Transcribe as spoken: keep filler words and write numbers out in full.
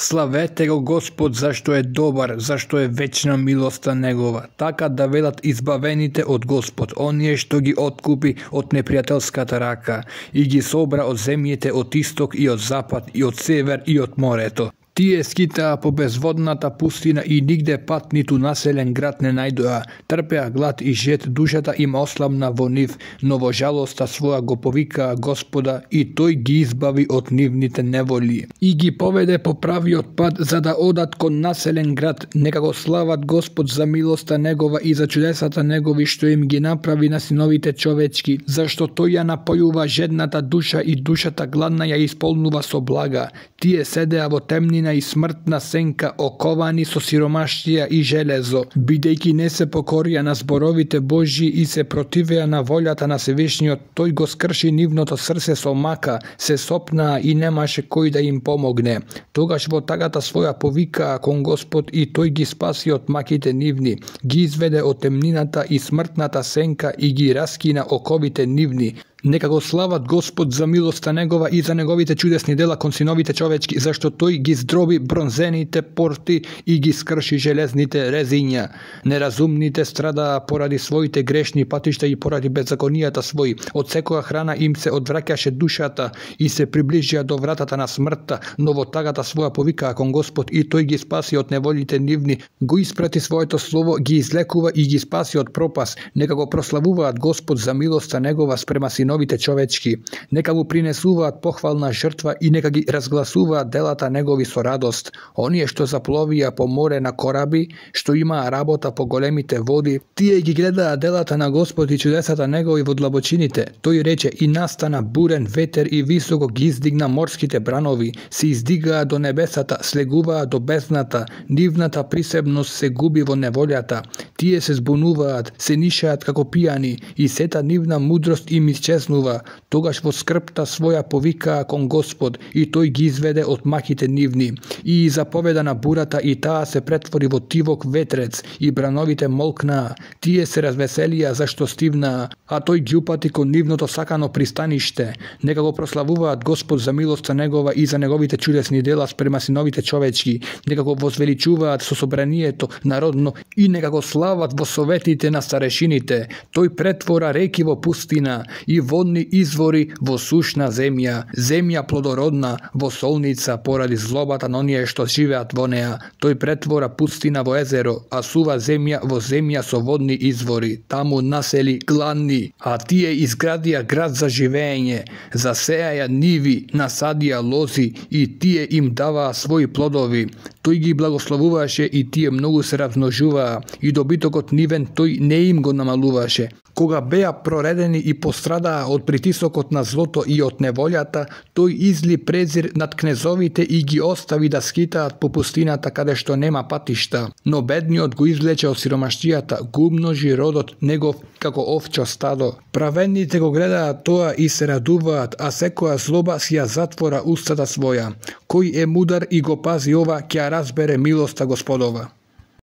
Славете го Господ, зашто е добар, зашто е вечна милоста Негова. Така да велат избавените од Господ, оние што ги откупи од непријателската рака и ги собра од земјите од исток и од запад и од север и од морето. Тие скитаа по безводната пустина и нигде пат ниту населен град не најдоа. Трпеа глад и жет, душата им ослабна во нив, но во жалоста своја го повикаа Господа и тој ги избави од нивните неволи. И ги поведе по правиот пат за да одат кон населен град. Нека го слават Господ за милоста Негова и за чудесата Негови што им ги направи на синовите човечки, зашто тој ја напојува жедната душа и душата гладна ја исполнува со блага. Тие седеа во темнина и смртна сенка, оковани со сиромаштија и железо, бидејќи не се покорија на зборовите Божји и се противеа на волјата на Севишниот, тој го скрши нивното срце со мака, се сопнаа и немаше кој да им помогне. Тогаш во тагата своја повикаа кон Господ и тој ги спаси од маките нивни, ги изведе од темнината и смртната сенка и ги раскина оковите нивни. Нека го слават Господ за милоста Негова и за Неговите чудесни дела кон синовите човечки, зашто тој ги здроби бронзените порти и ги скрши железните резиња. Неразумните страдаа поради своите грешни патишта и поради беззаконијата своји. Од секоја храна им се одвраќаше душата и се приближија до вратата на смртта, но во тагата своја повикаа кон Господ и тој ги спаси од неволите нивни, го испрати своето слово, ги излекува и ги спаси од пропас. Нека го прославуваат Господ за милоста Негова спрема синовите новите човечки, нека му принесуваат похвална жртва и нека ги разгласуваат делата Негови со радост. Оние што запловија по море на кораби, што имаа работа по големите води, тие ги гледаа делата на Господ и чудесата Негови во длабочините. Тој рече и настана бурен ветер и високо ги издигна морските бранови, се издигаа до небесата, слегуваа до бездната, нивната присебност се губи во неволјата. Тие се збунуваат, се нишаат како пијани и сета нивна мудрост им исчезнува. Тогаш во скрпта своја повикаа кон Господ и тој ги изведе од маките нивни. И заповеда на бурата и таа се претвори во тивок ветрец и брановите молкнаа. Тие се развеселија зашто стивнаа, а тој ги упати кон нивното сакано пристаниште. Нека го прославуваат Господ за милоста Негова и за Неговите чудесни дела спрема синовите човечки. Нека го возвеличуваат со собранието народно и нека го слават во советите на старешините. Тој претвора реки во пустина и водни извори во сушна земја, земја плодородна во солница поради злобата на оние што живеат во неа. Тој претвора пустина во езеро, а сува земја во земја со водни извори. Таму насели гладни, а тие изградија град за живење, засеаја ниви, насадија лози и тие им даваа своји плодови. Тој ги благословуваше и тие многу се размножуваа и добитокот нивен тој не им го намалуваше. Кога беа проредени и пострадаа од притисокот на злото и од неволјата, тој изли презир над кнезовите и ги остави да скитаат по пустината каде што нема патишта. Но бедниот го извлече од сиромаштијата, го умножи родот негов како овчо стадо. Праведните го гледаат тоа и се радуваат, а секоја злоба си ја затвора устата своја. Кој е мудар и го пази ова, ќе ја разбере милоста Господова.